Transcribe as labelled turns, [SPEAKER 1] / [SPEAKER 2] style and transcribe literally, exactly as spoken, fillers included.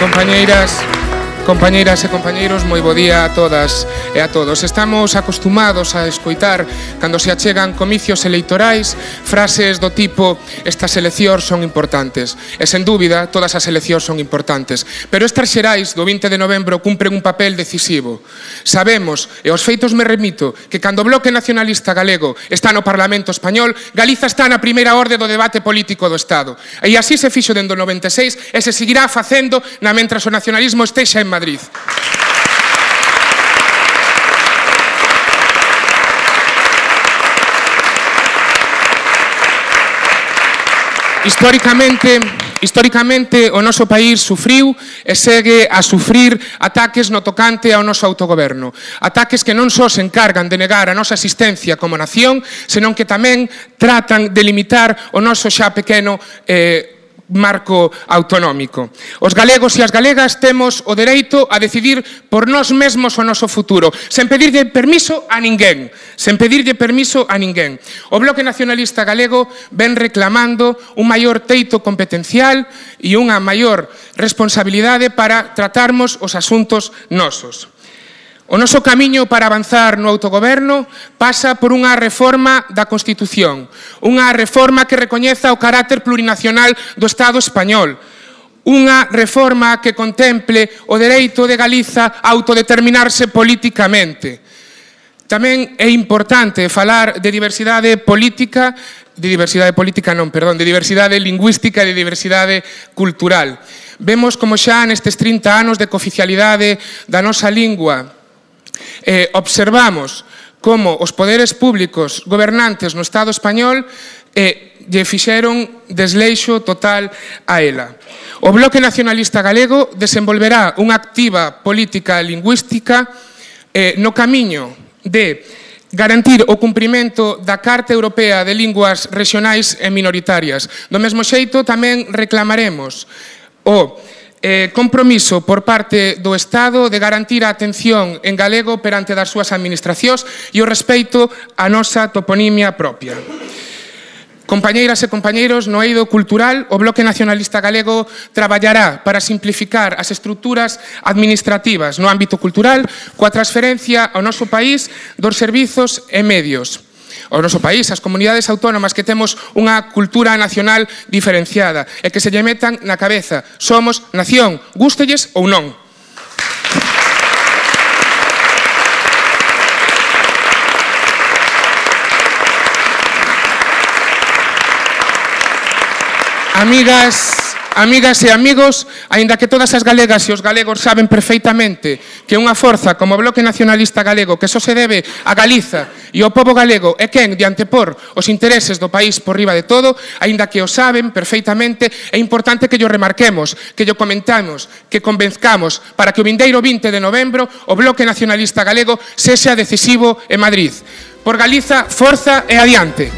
[SPEAKER 1] compañeiras, compañeiras e compañeiros, moi bo día a todas e a todos. Estamos acostumados a escoitar, cando se achegan comicios eleitorais, frases do tipo estas eleccións son importantes. E, sen dúbida, todas as eleccións son importantes. Pero estas xerais do vinte de novembro cumpren un papel decisivo. Sabemos, e aos feitos me remito, que cando o Bloque Nacionalista Galego está no Parlamento Español, Galiza está na primeira orde do debate político do Estado. E así se fixo dende o noventa e seis e se seguirá facendo na mentras o nacionalismo estexa en Madrid. Históricamente, históricamente o noso país sufriu e segue a sufrir ataques no tocante ao noso autogoberno. Ataques que non só se encargan de negar a nosa existencia como nación, senón que tamén tratan de limitar o noso xa pequeno eh, marco autonómico. Os galegos e as galegas temos o dereito a decidir por nós mesmos o noso futuro, sen pedirlle permiso a ninguén, sen pedirlle permiso a ninguén. O Bloque Nacionalista Galego ven reclamando un maior teito competencial e unha maior responsabilidade para tratarmos os asuntos nosos. O noso camiño para avanzar no autogoberno pasa por unha reforma da Constitución, unha reforma que recoñeza o carácter plurinacional do Estado español, unha reforma que contemple o dereito de Galiza a autodeterminarse políticamente. Tamén é importante falar de diversidade política, de diversidade política non, perdón, de diversidade lingüística e de diversidade cultural. Vemos como xa nestes trinta anos de cooficialidade da nosa lingua Eh, observamos como os poderes públicos gobernantes no Estado español eh, lle fixeron desleixo total a ela. O Bloque Nacionalista Galego desenvolverá unha activa política lingüística eh, no camiño de garantir o cumprimento da Carta Europea de Linguas Regionais e Minoritarias. Do mesmo xeito, tamén reclamaremos o Eh, compromiso por parte do Estado de garantir a atención en galego perante das súas administracións e o respeito á nosa toponimia propia. Compañeiras e compañeiros, no eido cultural, o Bloque Nacionalista Galego traballará para simplificar as estruturas administrativas no ámbito cultural coa transferencia ao noso país dos servizos e medios. O noso país, as comunidades autónomas que temos unha cultura nacional diferenciada e que se lle metan na cabeza. Somos nación, gústelles ou non. Amigas, amigas e amigos, aínda que todas as galegas e os galegos saben perfeitamente que unha forza como o Bloque Nacionalista Galego, que só se debe a Galiza e ao pobo galego, é quen de antepor os intereses do país por riba de todo, aínda que o saben perfeitamente, é importante que llo remarquemos, que llo comentamos, que convenzcamos para que o vindeiro vinte de novembro o Bloque Nacionalista Galego sexa decisivo en Madrid. Por Galiza, forza e adiante.